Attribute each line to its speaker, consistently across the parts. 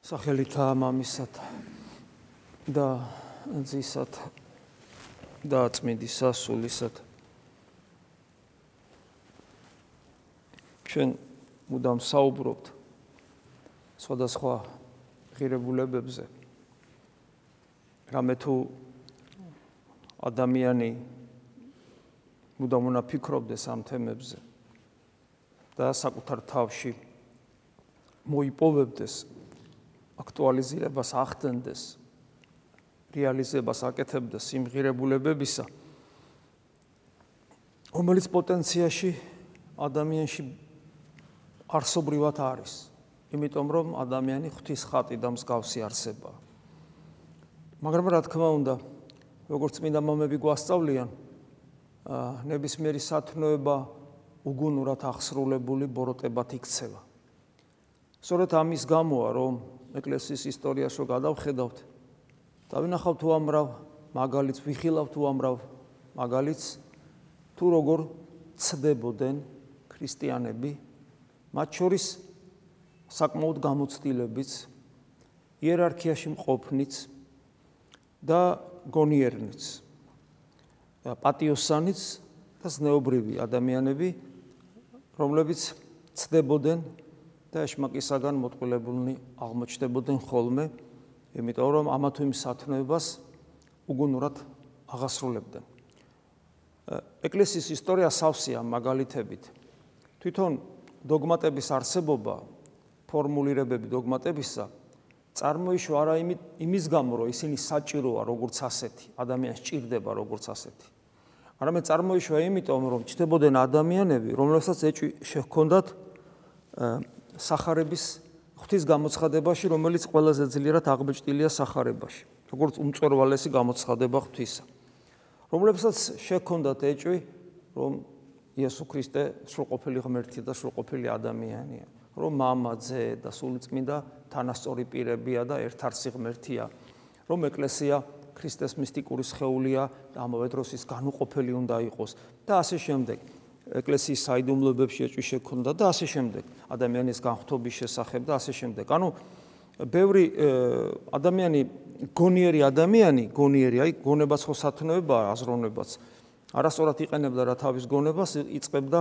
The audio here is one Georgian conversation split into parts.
Speaker 1: სახელითა მამისათა და ძისათა და წმინდისა სულისათა. ჩვენ მუდამ საუბრობთ სხვადასხვა ღირებულებებზე. რამე თუ ადამიანი მუდამ უნდა ფიქრობდეს ამ თემებზე და საკუთარ თავში მოიპოვებდეს აქტუალიზირებას ახდენდეს, რეალიზებას აკეთებდეს იმ ღირებულებებისა, რომელიც პოტენციაში ადამიანში არსობრივად არის, იმიტომ რომ ადამიანი ღვთის ხატი და მსგავსი არსებაა. მაგრამ რა თქმა უნდა, როგორც წმინდა მამები გვასწავლიან, ნებისმიერი სათნოება უგუნურად აღსრულებული ბოროტებად იქცევა. სწორედ ამის გამოა, რომ ეკლესიის ისტორიაში გადავხედავთ, დავინახავთ უამრავ მაგალითს, ვიხილავთ უამრავ მაგალითს, თუ როგორ ცდებოდნენ ქრისტიანები, მათ შორის საკმაოდ გამოცდილებიც, იერარქიაში მყოფნიც და გონიერნიც, პატიოსანიც და ზნეობრივი ადამიანები, რომლებიც ცდებოდნენ და ეშმაკისაგან მოტყულებულნი აღმოჩნდებოდნენ ხოლმე, იმიტომ რომ ამა თუ იმ სათნოებას უგუნურად აღასრულებდნენ. ეკლესიის ისტორია სავსეა მაგალითებით. თვითონ დოგმატების არსებობა, ფორმულირებები დოგმატებისა წარმოიშვა არა იმის გამო, რომ ისინი საჭიროა როგორც ასეთი, ადამიანს ჭირდება როგორც ასეთი. არამედ წარმოიშვა იმიტომ, რომ ჩნდებოდნენ ადამიანები, რომლებსაც ეჭვი შეჰქონდათ სახარების ღვთის გამოცხადებაში, რომელიც ყველაზე ძლიერად აღბეჭდილია სახარებაში, როგორც უმწვერვალესი გამოცხადება ღვთისა. რომლებსაც შეჰქონდათ ეჭვი, რომ იესო ქრისტე სრულყოფილი ღმერთია და სრულყოფილი ადამიანია, რომ მამა, ძე და სულიწმინდა თანასწორი პირებია და ერთარცი ღმერთია, რომ ეკლესია ქრისტეს მისტიკური სხეულია და ამავე დროს ის განუყოფელი უნდა იყოს და ასე შემდეგ. ეკლესიის საიდუმლოებებში ეჭვი შეჰქონდა და ასე შემდეგ, ადამიანის განხთობის შესახებ და ასე შემდეგ. ანუ ბევრი ადამიანი, გონიერი ადამიანი, აი გონებაც ხო სათნოებაა, აზროვნებაც, არასწორად იყენებდა რა თავის გონებას, იწყებდა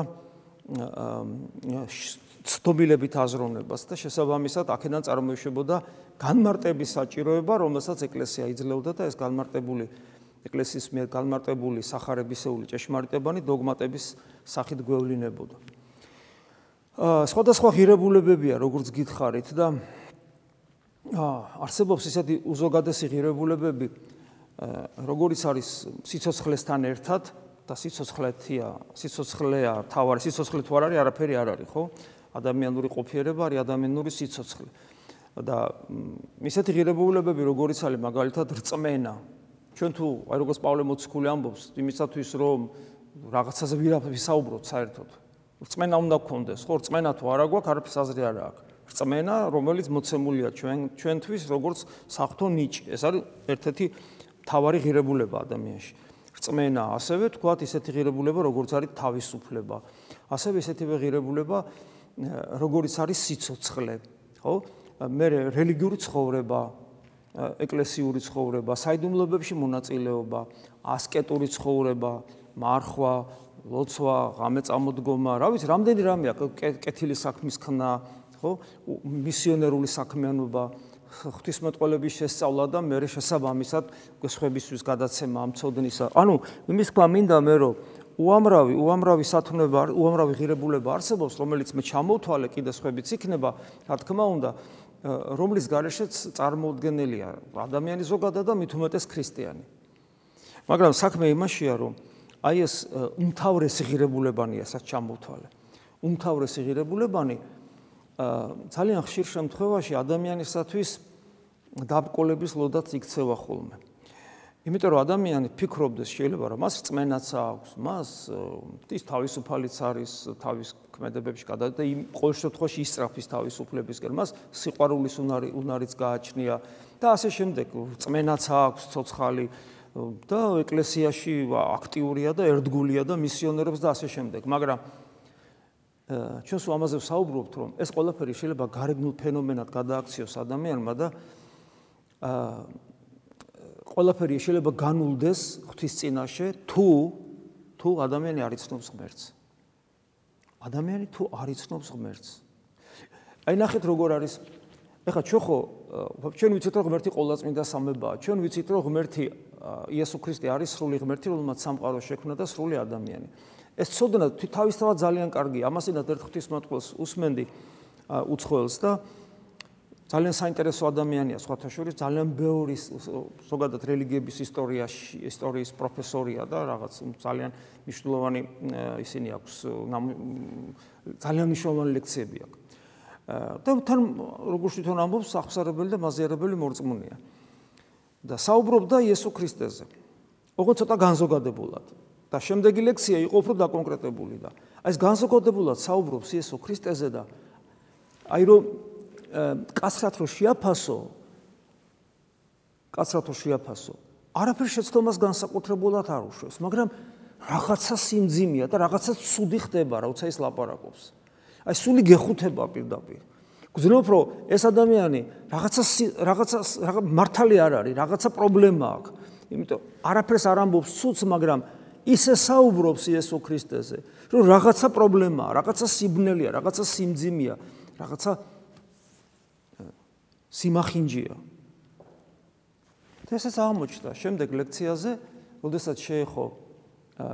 Speaker 1: ცდობილებით აზროვნებას და შესაბამისად აქედან წარმოიშობოდა განმარტების საჭიროება, რომელსაც ეკლესია იძლეოდა და ეს განმარტებული ეკლესიის მიერ განმარტებული სახარებისეული ჭეშმარიტებანი დოგმატების სახით გვევლინებოდა. სხვადასხვა ღირებულებებია, როგორც გითხარით და არსებობს ისეთი უზოგადესი ღირებულებები, როგორიც არის სიცოცხლესთან ერთად და სიცოცხლეა თავარი, სიცოცხლე თუ არ არის, არაფერი არ არის, ხო? ადამიანური ყოფიერება არის ადამიანური სიცოცხლე. და ისეთი ღირებულებები, როგორიც არის მაგალითად რწმენა. ჩვენ თუ აი როგორც პავლე მოციქული ამბობს, იმისათვის რომ რაღაცაზე ვისაუბროთ საერთოდ. რწმენა უნდა გქონდეს, ხო, რწმენა თუ არა გვაქვს, არაფერს აზრი არ აქვს. რწმენა, რომელიც მოცემულია ჩვენთვის როგორც საღვთო ნიჭი. ეს არის ერთ-ერთი მთავარი ღირებულება ადამიანში. რწმენა, ასევე თქვათ ისეთი ღირებულება, როგორც არის თავისუფლება. ასევე ისეთივე ღირებულება, როგორიც არის სიცოცხლე, ხო? მე რელიგიური ცხოვრება, ეკლესიური ცხოვრება, საიდუმლოებებში მონაწილეობა, ასკეტური ცხოვრება, მარხვა, ლოცვა, ღამე წამოდგომა, რა ვიცი, რამდენი რამე აქვს, კეთილი საქმის ხნა, ხო? მისიონერული საქმიანობა, ღვთისმეტყველების შესწავლა და მე შესაბამისად სხვებისთვის გადაცემა ამ ცოდნისა. ანუ იმის თქვა მინდა მე, რომ უამრავი სათნოება, უამრავი ღირებულება არსებობს, რომელიც მე ჩამოვთვალე, კიდე სხვებიც იქნება, რა თქმა უნდა, რომლის გარეშეც წარმოუდგენელია ადამიანი ზოგადად და მით უმეტეს ქრისტიანი. მაგრამ საქმე იმაშია, რომ აი ეს უმთავრესი ღირებულებანია, რაც ჩამოვთვალე. უმთავრესი ღირებულებანი ძალიან ხშირ შემთხვევაში ადამიანისათვის დაბრკოლების ლოდაც იქცევა ხოლმე. იმიტომ რომ ადამიანი ფიქრობდეს შეიძლება რომ მას რწმენაც აქვს, მას ის თავისუფალიც არის თავის ქმედებებში გადადა და იმ ყოველ შემთხვევაში ისწრაფის თავისუფლებისკენ, მას სიყვარულის უნარიც გააჩნია და ასე შემდეგ, რწმენაც აქვს, ცოცხალი და ეკლესიაში აქტიურია და ერთგულია და მისიონერობს და ასე შემდეგ. მაგრამ ჩვენს ამაზე ვსაუბრობთ, რომ ეს ყველაფერი შეიძლება გარეგნულ ფენომენად გადააქციოს ადამიანმა და ყველაფერი შეიძლება განულდეს ღვთის წინაშე, თუ ადამიანი არ იცნობს ღმერთს. ადამიანი თუ არ იცნობს ღმერთს. აი ნახეთ როგორ არის. ეხლა ჩვენ ვიცით რომ ღმერთი ყოვლადწმინდა სამებაა. ჩვენ ვიცით რომ ღმერთი იესო ქრისტე არის სრული ღმერთი, რომელმაც სამყარო შექმნა და სრული ადამიანი. ეს ცოდნა თავისთავად ძალიან კარგია. ამასინაც ერთ ღვთისმოწყალეს usmenდი უცხოელს და ძალიან საინტერესო ადამიანია, სხვათა შორის ძალიან ბევრი ზოგადად რელიგიების ისტორიის პროფესორია და რაღაც ძალიან მნიშვნელოვანი ისინი აქვს, ძალიან მნიშვნელოვანი ლექციები აქვს. და თან როგორც თვითონ ამბობს, აღსარებელი და მაზიარებელი მორწმუნეა. და საუბრობდა იესო ქრისტეზე. ოღონდ ცოტა განზოგადებულად. და შემდეგი ლექსია იყო უფრო დაკონკრეტებული და აი ეს განზოგადებულად საუბრობს იესო ქრისტეზე და აი რომ კაცრად რო შეაფასო, არაფერ შეცდომას განსაკუთრებულად არ უშვებს, მაგრამ რაღაცა სიმძიმეა და რაღაცა ცუდი ხდება, როცა ის ლაპარაკობს. აი სული გეხუთება პირდაპირ. გძნობ რომ ეს ადამიანი რაღაცა მართალი არ არის, რაღაცა პრობლემა აქვს. იმიტომ არაფერს არ ამბობს ცუდს, მაგრამ ისე საუბრობს იესო ქრისტეზე, რომ რაღაცა პრობლემაა, რაღაცა სიბნელეა, რაღაცა სიმძიმეა, რაღაცა სიმახინჯია. ესეც აღმოჩნდა შემდეგ ლექციაზე, როდესაც შეეხო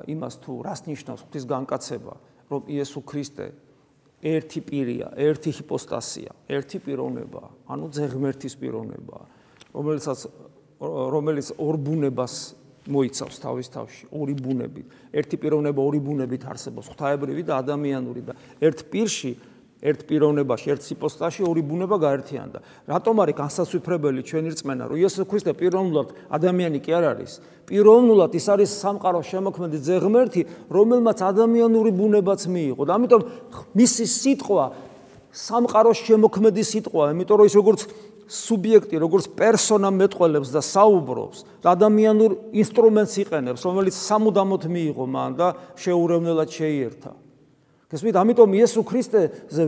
Speaker 1: იმას თუ რას ნიშნავს ღვთის განკაცება, რომ იესო ქრისტე ერთი პირია, ერთი ჰიპოსტასია, ერთი პიროვნებაა, ანუ ძეღმერთის პიროვნებაა, რომელიც ორ ბუნებას მოიცავს თავის თავში, ორი ბუნებით. ერთი პიროვნება ორი ბუნებით არსებობს, ღვთაებრივი და ადამიანური და ერთ პირში, ერთ პიროვნებაში, ერთ ჰიპოსტასში ორი ბუნება გაერთიანდა. რატომ არის განსაცვიფრებელი ჩვენი რწმენა, რომ იესო ქრისტე პიროვნულად ადამიანი კი არ არის? პიროვნულად ის არის სამყაროს შემოქმედი ძეღმერთი, რომელმაც ადამიანური ბუნებაც მიიღო. და ამიტომ მისი სიტყვა სამყაროს შემოქმედი სიტყვაა, იმიტომ რომ ის როგორც სუბიექტი, როგორც პერსონა მეტყველებს და საუბრობს და ადამიანურ ინსტრუმენტს იყენებს, რომელიც სამუდამოდ მიიღო მან და შეურევნელად შეიერთა. გესმით, ამიტომ იესო ქრისტეზე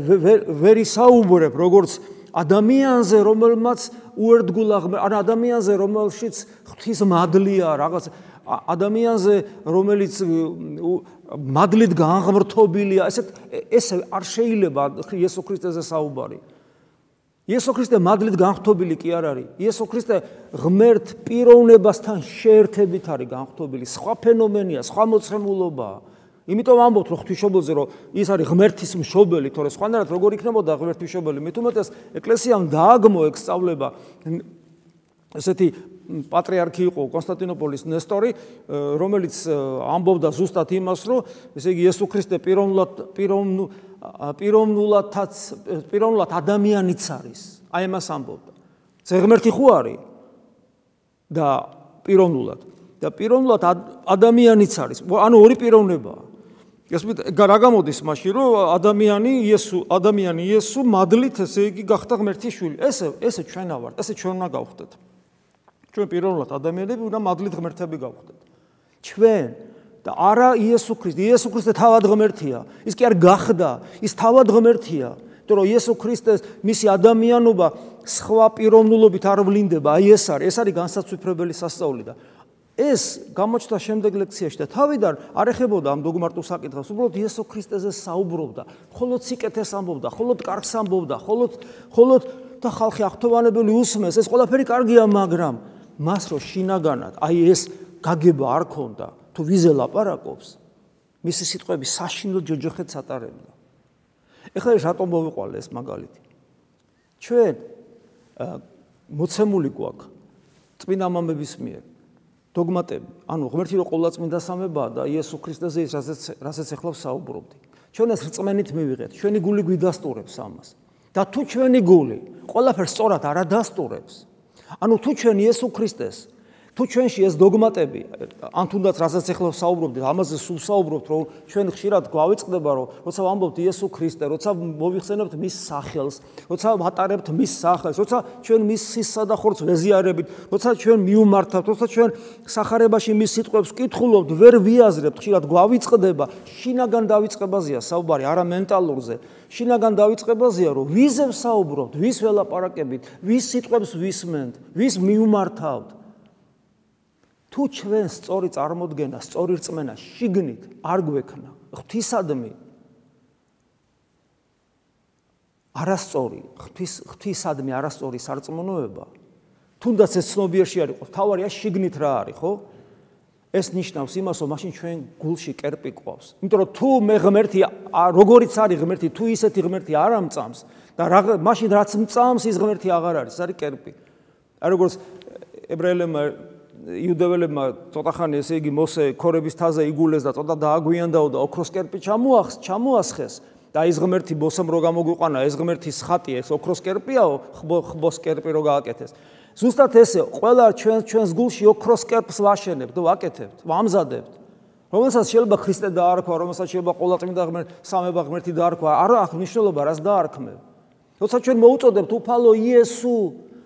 Speaker 1: ვერ ისაუბრებ როგორც ადამიანზე, რომელმაც უერთგულა ან ადამიანზე, რომელშიც ღვთის მადლია, რაღაც ადამიანზე, რომელიც მადლით განღმრთობილია, ეს არ შეიძლება იესო ქრისტეზე საუბარი. იესო ქრისტე მადლით განღმრთობილი კი არ არის. იესო ქრისტე ღმერთ პიროვნებასთან შეერთებით არის განღმრთობილი. სხვა ფენომენია, სხვა მოწმულობაა. იმიტომ ამბობთ რომ ღვთისმშობელზე რომ ის არის ღმერთის მშობელი, თორე სხვანაირად როგორ იქნებოდა ღმერთის მშობელი? მით უმეტეს ეკლესიამ დააგმო ეგ სწავლება. ესეთი პატრიარქი იყო კონსტანტინოპოლის ნესტორი, რომელიც ამბობდა ზუსტად იმას, რომ ესე იგი იესო ქრისტე პიროვნულად ადამიანიც არის. აი ამას ამბობდა. ძეღმერთი ხო არის და პიროვნულად ადამიანიც არის. ანუ ორი პიროვნებაა. გასმით, რა გამოდის მაშინ, რომ ადამიანი იესო მადლით ესე იგი გახდა ღმერთის შვილი. ესე ჩვენა ვართ, ესე ჩვენ უნდა გავხდეთ. ჩვენ პიროვნულად ადამიანები უნდა მადლით ღმერთები გავხდეთ. ჩვენ და არა იესო ქრისტე. იესო ქრისტე თავად ღმერთია. ის კი არ გახდა, ის თავად ღმერთია. იმიტომ რომ იესო ქრისტეს მისი ადამიანობა სხვა პიროვნულობით არ ვლინდება. აი ეს არის განსაცვიფრებელი სასწაული და ეს გამოჩნდა შემდეგ ლექციაში და თავიდან არ ეხებოდა ამ დოგმატურ საკითხებს, უბრალოდ იესო ქრისტეზე საუბრობდა, მხოლოდ სიკეთეს ამბობდა, მხოლოდ კარგს ამბობდა, მხოლოდ და ხალხი აღთოვანებელი უსმენს, ეს ყველაფერი კარგია, მაგრამ მას რო შინაგანად, აი ეს გაგება არ ქონდა, თუ ვიზე ლაპარაკობს, მისი სიტყვები საშინელ ჯოჯოხეთს ატარებდა. ეხლა ეს რატომ მოვიყვანე ეს მაგალითი? ჩვენ მოცემული გვაქვს წმინდა მამების მიერ დოგმატები, ანუ ღმერთი რო ყოვლადწმინდა სამებაა და იესო ქრისტეზე ის რასაც ახლა ვსაუბრობდი. ჩვენ ეს რწმენით მივიღეთ, ჩვენი გული გვიდასტურებს ამას. და თუ ჩვენი გული ყველაფერს სწორად არ ადასტურებს, ანუ თუ ჩვენ იესო ქრისტეს თუ ჩვენში ეს დოგმატები, ან თუნდაც რასაც ახლა საუბრობთ, ამაზე სულ საუბრობთ, რომ ჩვენ ხშირად გვავიწყდება, რომ როცა ვამბობთ იესო ქრისტე, როცა მოვიხსენებთ მის სახელს, როცა ვატარებთ მის სახელს, როცა ჩვენ მის სისსა და ხორცს ვეზიარებით, როცა ჩვენ მიუმართავთ, როცა ჩვენ სახარებაში მის სიტყვებს ვკითხულობთ, ვერ ვიაზრებთ, ხშირად გვავიწყდება, შინაგან დავიწყებაზეა საუბარი, არა მენტალურზე. შინაგან დავიწყებაზეა, რომ ვიზე ვსაუბრობთ, ვის ველაპარაკებით, ვის სიტყვებს ვისმენთ, ვის მიუმართავთ. თუ ჩვენ სწორი წარმოდგენა, სწორი რწმენა შიგნით არ გვექნა, ღვთისადმი არასწორი, ღვთისადმი არასწორი სარწმუნოება, თუნდაც ეს ცნობიერში არ იყოს, თავარია შიგნით რა არის, ხო? ეს ნიშნავს იმას, რომ მაშინ ჩვენ გულში კერპი ყვავს. იმიტომ რომ თუ მე ღმერთი, როგორიც არის ღმერთი, თუ ისეთი ღმერთი არ ამწამს და მაშინ რაც მწამს ის ღმერთი აღარ არის, ეს არის კერპი. აი როგორც ებრაელებმა იუდეველებმა ცოტა ხანი ესე იგი მოსე ქორების თაზე იგულეს და ცოტა დააგვიანდაო და ოქროს კერპი ჩამოასხეს და ის ღმერთი მოსემ რო გამოგვიყვანა, ეს ღმერთის ხატი, ეს ოქროს კერპიაო, ხბოს კერპი რო გააკეთეს. ზუსტად ესე, ყველა ჩვენს გულში ოქროს კერპს ვაშენებთ, ვაკეთებთ, ვამზადებთ. რომელსაც შეიძლება ქრისტე დაარქვა, რომელსაც შეიძლება ყოვლადწმინდა სამება ღმერთი დაარქვა, არ აქვს მნიშვნელობა, რას დაარქმევ. როცა ჩვენ მოუწოდებთ უფალო იესო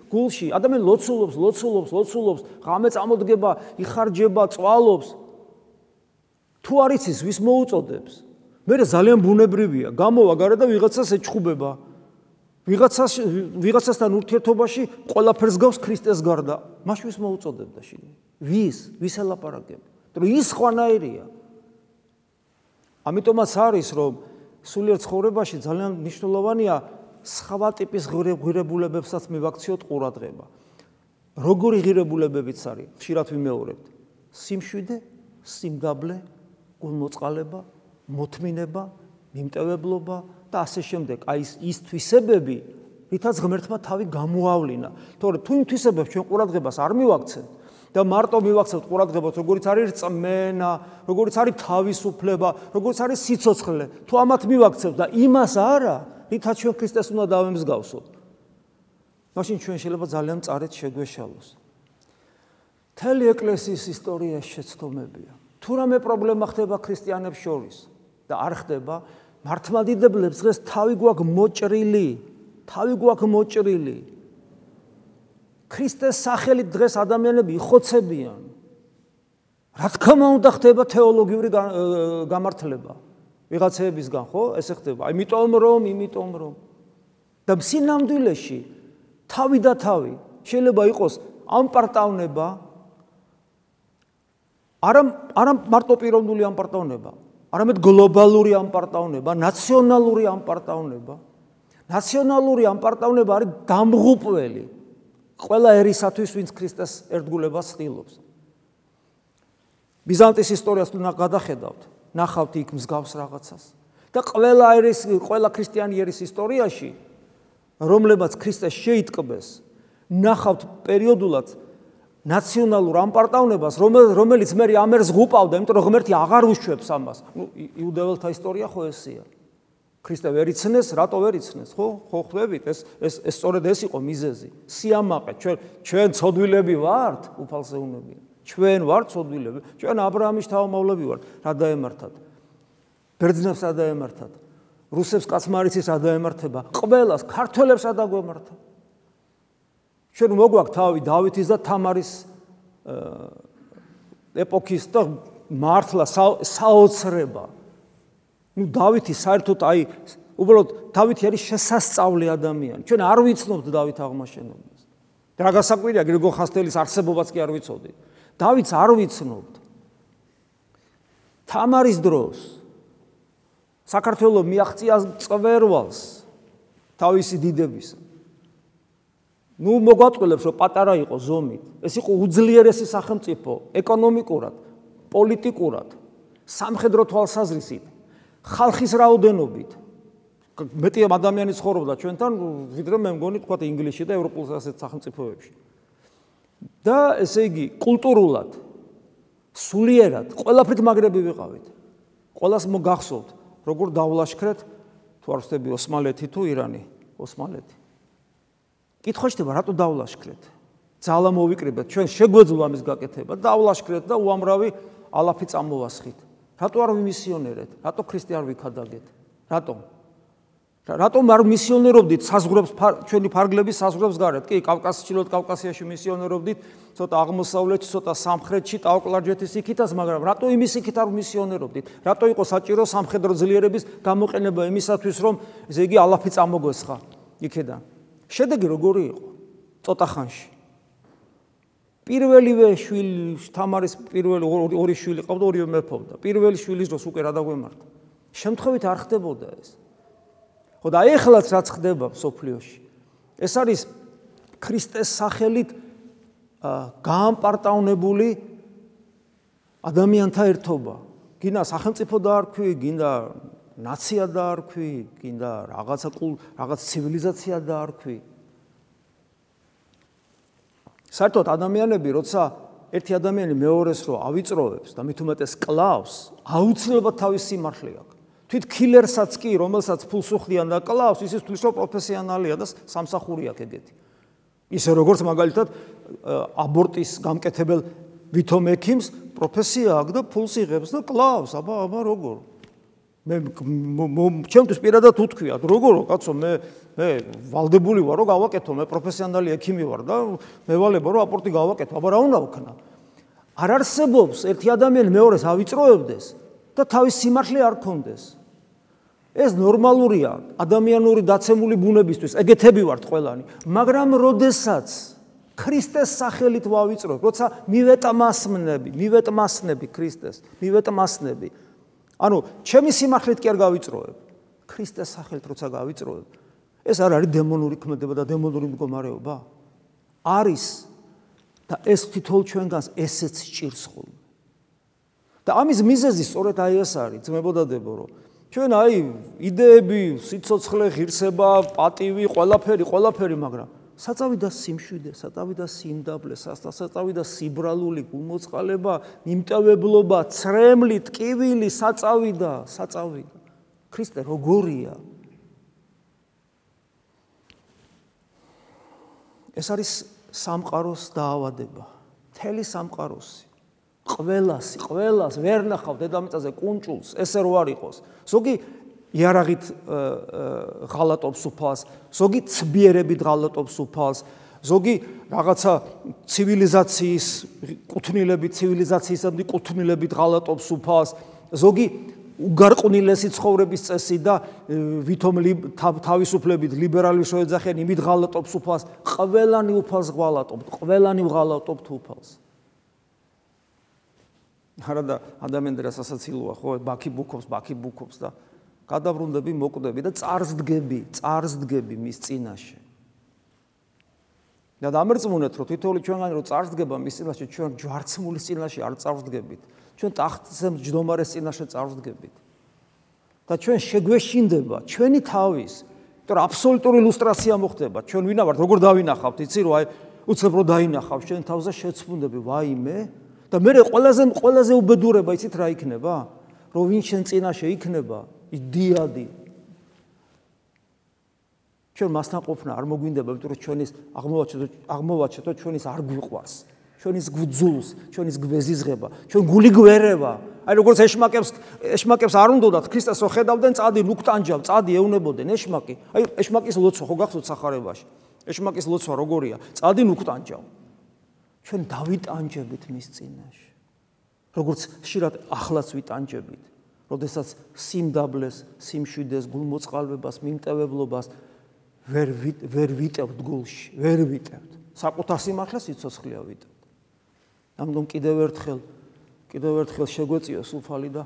Speaker 1: გულში, ადამიანი ლოცულობს, ღამე წამოდგება, იხარჯება, წვალობს. თუ არ იცის, ვის მოუწოდებს? მე ძალიან ბუნებრივია, გამოვა გარე და ვიღაცას ეჩხუბება. ვიღაცასთან ურთიერთობაში ყველაფერს გავს ქრისტეს გარდა. მაშ ვის მოუწოდებდა შიგნით? ვის ელაპარაკებ? რომ ის ხვანაირია. ამიტომაც არის, რომ სულიერ ცხოვრებაში ძალიან მნიშვნელოვანია სხვა ტიპის ღირებულებებსაც მივაქციოთ ყურადღება. როგორი ღირებულებებიც არის, ხშირად ვიმეორებთ. სიმშვიდე, სიმგაბლე, გულმოწყალება, მოთმინება, მიმტევებლობა და ასე შემდეგ. აი ის თვისებები, რითაც ღმერთმა თავი გამოავლინა. თორე თუ იმ თვისებებს ჩვენ ყურადღებას არ მივაქცევთ და მარტო მივაქცევთ ყურადღებას, როგორიც არის რწმენა, როგორიც არის თავისუფლება, როგორიც არის სიცოცხლე, თუ ამათ მივაქცევთ და იმას არა, რითაც ჩვენ ქრისტეს უნდა დავემსგავსოთ, მაშინ ჩვენ შეიძლება ძალიან მწარედ შეგვეშალოს. მთელი ეკლესიის ისტორია შეცდომებია. თუ რამე პრობლემა ხდება ქრისტიანებს შორის და არ ხდება, მართლმადიდებლებს დღეს თავი გვაქვს მოჭრილი. ქრისტეს სახელით დღეს ადამიანები იხოცებიან. რა თქმა უნდა ხდება თეოლოგიური გამართლება. ვიღაცებისგან, ხო? ესე ხდება. იმიტომ რომ და სინამდვილეში თავი და თავი შეიძლება იყოს ამპარტავნება, არა მარტო პიროვნული ამპარტავნება, არამედ გლობალური ამპარტავნება, ნაციონალური ამპარტავნება. ნაციონალური ამპარტავნება არის დამღუპველი ყველა ერისათვის, ვინც ქრისტეს ერთგულებას ცდილობს. ბიზანტიის ისტორიას თუ გადახედავთ, ნახავთ იქ მსგავს რაღაცას. და ყველა ქრისტიანი ერის ისტორიაში, რომლებაც ქრისტეს შეიტკბეს, ნახავთ პერიოდულად ნაციონალურ ამპარტავნებას, რომელიც მე ამერს ღუპავდა, იმიტომ რომ ღმერთი აღარ უშვებს ამას. იუდეველთა ისტორია ხო ესეა. ქრისტე ვერ იცნეს, რატო ვერ იცნეს, ხო? ხო ხვდებით, ეს სწორედ ეს იყო მიზეზი. სიამაყე, ჩვენ ცოდვილები ვართ, უფალსეუნებია. ჩვენ ვართ ცოდვილები, ჩვენ აბრაამის შთამომავლები ვართ, რა დაემართათ? ბერძნებს რა დაემართათ? რუსებს კაცმარიცის რა დაემართება? ყველას, ქართველებს რა დაგვემართა? ჩვენ მოგვაქვს თავი დავითის და თამარის ეპოქის და მართლა საოცრება. დავითი საერთოდ უბრალოდ დავითი არის შესასწავლი ადამიანი. ჩვენ არ ვიცნობთ დავით აღმაშენებლს. რა გასაკვირია, გრიგოლ ხანძთელის არსებობაც კი არ ვიცოდით. დავითს არ ვიცნობთ. თამარის დროს საქართველოს მიაღწია წვერვალს თავისი დიდების. მოგვაწყვეტებს, რომ პატარა იყო ზომით. ეს იყო უძლიერესი სახელმწიფო, ეკონომიკურად, პოლიტიკურად, სამხედრო თვალსაზრისით, ხალხის რაოდენობით. მეტი ადამიანი ცხოვრობდა ჩვენთან, ვიდრე მე მგონი თქვა ინგლისში და ევროპულ ასეთ სახელმწიფოებში. და ესე იგი, კულტურულად, სულიერად, ყველაფრით მაგრები ვიყავით. ყველას მოგახსოვთ, როგორ დავლაშქრეთ, თუ არ ვხდები ოსმალეთი თუ ირანი, ოსმალეთი. კითხვა ხდება, რატო დავლაშქრეთ? ძალა მოვიკრიბეთ, ჩვენ შეგვეძლო ამის გაკეთება დაავლაშქრეთ და უამრავი ალაფი წამოვასხით. რატო არ ვიმისიონერეთ? რატო ქრისტე არ ვიქადაგეთ? რატომ არ მისიონერობდით საზღვრებს ჩვენი ფარგლების საზღვრებს გარეთ? კი, კავკასიში, კავკასიაში მისიონერობდით, ცოტა აღმოსავლეთში, ცოტა სამხრეთში, ტაოკლარჯეთის იქითაც, მაგრამ რატო იმის იქით არ მისიონერობდით? რატო იყო საჭირო სამხედრო ძლიერების გამოყენება იმისათვის, რომ ესე იგი ალაფი წამოგვესხა იქედან? შედეგი როგორი იყო? ცოტა ხანში. პირველივე შვილი, თამარის პირველი ორი შვილი ყავდა, ორივე მეფობდა. პირველი შვილის დროს უკვე რა დაგვემართა. შემთხვევით არ ხდებოდა ეს. ხო და ეხლაც რაც ხდება სოფლიოში. ეს არის ქრისტეს სახელით გაამპარტავნებული ადამიანთა ერთობა. გინდა სახელმწიფო დაარქვი, გინდა ნაცია დაარქვი, გინდა რაღაც ცივილიზაცია დაარქვი. საერთოდ ადამიანები, როცა ერთი ადამიანი მეორეს რო ავიწროვებს და მით უმეტეს კლავს, აუცილებლად თავის სიმართლე აქვს. თვით კილერსაც კი, რომელსაც ფულს უხდიან და კლავს, ისიც თulis რომ პროფესიონალია და სამსახური აქვს ეგეთი. ისე როგორც მაგალითად აბორტის გამკეთებელ ვითომ ექიმს პროფესია აქვს და ფულს იღებს და კლავს, აბა როგორ? ჩემთვის პირადად უთქვიათ, როგორო კაცო, მე ვალდებული ვარ, რომ გავაკეთო, მე პროფესიონალი ექიმი ვარ და მე ვალება რომ აპორტი გავაკეთო, აბა რა უნდა ვქნა? არ არსებობს ერთი ადამიანი მეორეს ავიწროებდეს და თავის სიმართლე არ ქონდეს. ეს ნორმალურია ადამიანური დაცემული ბუნებისთვის, ეგეთები ვართ ყველანი, მაგრამ როდესაც ქრისტეს სახელით ვავიწროებ, როცა მივეტმასნები ქრისტეს, მივეტმასნები. ანუ ჩემი სიმართლით კი არ გავიწროებ, ქრისტეს სახელით როცა გავიწროებ, ეს არ არის დემონური ქმედება და დემონური მდგომარეობა? არის და ეს თითოეულ ჩვენგანს ესეც სჭირს ხოლმე. და ამის მიზეზი სწორედ აი ეს არის, ძმებოდადებო, რომ ჩვენ აი იდეები, სიცოცხლე, ღირსება, პატივი, ყველაფერი, მაგრამ საწავი და სიმშვიდე, საწავი და სიმდაბლე, საწავი და სიბრალული, გულმოწყალება, მიმტევებლობა, ცრემლი, ტკივილი, საწავი და ქრისტე როგორია? ეს არის სამყაროს დაავადება, მთელი სამყაროსი. ყველას ვერ ნახავ დედამიწაზე კუნჭულს, ესე რო არ იყოს. ზოგი იარაღით ღალატობს უფალს, ზოგი ცბიერებით ღალატობს უფალს, ზოგი რაღაცა ცივილიზაციისადმი კუთვნილებით ღალატობს უფალს, ზოგი უგარყვნილესი ცხოვრების წესი და ვითომ თავისუფლებით ლიბერალი შეეძახიან იმით ღალატობს უფალს, ყველანი უფალს ღალატობთ, ყველანი ვღალატობთ უფალს. არა და ადამიანები რასაცილოა, ხო, ბაქი ბუქობს და გადავრუნდები, მოკვდები და წარსდგები მის წინაშე. და დამერწმუნეთ, რომ თითოეული ჩვენგანი რომ წარსდგება მის წინაშე, ჩვენ ჯვარცმულის წინაშე არ წარსდგებით. ჩვენ ტახტზე მჯდომარეს წინაშე წარსდგებით. და ჩვენ შეგვეშინდება ჩვენი თავის, იმიტომ რომ აბსოლუტური ილუსტრაცია მოხდება. ჩვენ ვინა ვართ, როგორ დავინახავთ, იცი რომ აი უცებ რო დაინახავ ჩვენ თავზე შეცვუნდები, ვაიმე და მე ყველაზე უბედურება იცით რა იქნება? რომ ვინ შენ წინაშე იქნება, იდიადი. ჩვენ მასთან ყოფნა არ მოგვინდება, იმიტომ რომ ჩვენის აღმოვაჩეთო ჩვენის არ გვიყვარს, ჩვენის გვძულს, ჩვენის გვეზიზღება, ჩვენ გული გვერევა. აი როგორც ეშმაკებს არ უნდათ ქრისტეს რო ხედავდნენ, წადი ლუქტანჯავ, წადი ეუნებოდნენ ეშმაკი. აი ეშმაკის ლოცვა ხო გახსოვთ სახარებაში? ეშმაკის ლოცვა როგორია? წადი ლუქტანჯავ. ჩვენ დავიტანჯებით მის წინაშე. როგორც ხშირად ახლაც ვიტანჯებით, როდესაც სიმდაბლეს, სიმშვიდეს, გულმოწყალვებას, მიმტევებლობას ვერ ვიტევთ გულში, ვერ ვიტევთ. საკუთარ სიმართლეს სიცოცხლეა ვიტევთ. ამიტომ კიდევ ერთხელ შეგვეწიოს უფალი და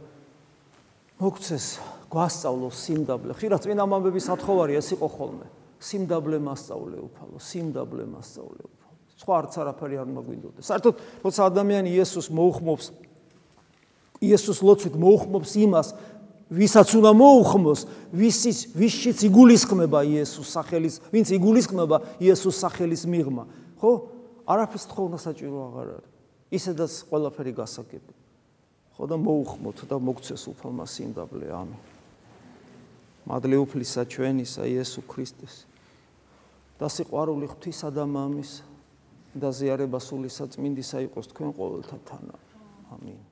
Speaker 1: მოგცეს, გვასწავლოს სიმდაბლე. ხშირად წმინდა მამების სათხოვარი ეს იყო ხოლმე. სიმდაბლე მასწავლე უფალო, სიმდაბლე მასწავლე უფალო. სხვა არც არაფერი არ მოგვინდოდეს. საერთოდ, როცა ადამიანი იესოს მოუხმობს, იესოს ლოცვით მოუხმობს იმას, ვისაც უნდა მოუხმოს, ვისშიც იგულისხმება იესოს სახელის, ვინც იგულისხმება იესოს სახელის მიღმა, ხო? არაფერს თხოვნა საჭირო აღარ არის. ისედაც ყველაფერი გასაგებია. ხო და მოუხმოთ და მოგცეს უფალმა სიმდაბლე, ამინ. მადლი უფლისა ჩვენისა იესო ქრისტეს და სიყვარული ღვთისა და მამის და ზიარება სულისა წმინდისა იყოს თქვენ ყოველთა თანა. ამინ.